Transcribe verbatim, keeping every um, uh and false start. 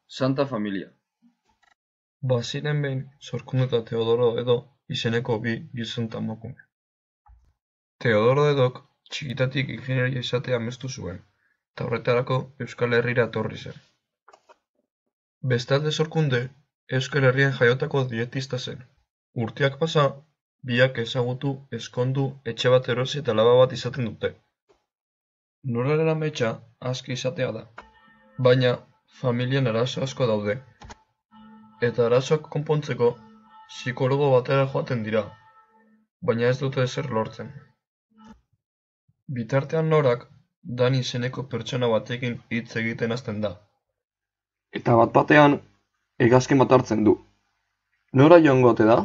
Santa Familia. Baziren behin Sorkunde eta Teodoro edo izeneko bi gizon eta emakume. Teodoro edok txikitatik ingenieria izatea amestu zuen, eta horretarako Euskal Herrira etorri zen. Bestalde Sorkunde, Euskal Herrian jaiotako dietista zen. Urteak pasa, biak ezagutu, ezkondu, etxe bat erosi eta alaba bat izaten dute. Noraren ametsa aski izatea da, baina familian arazo asko daude, eta arazoak konpontzeko psikologo batera joaten dira, baina ez dute ezer lortzen. Bitartean Norak Dan izeneko pertsona batekin hitz egiten hasten da. Eta bat batean, hegazkin bat hartzen du. Nora joango ote da?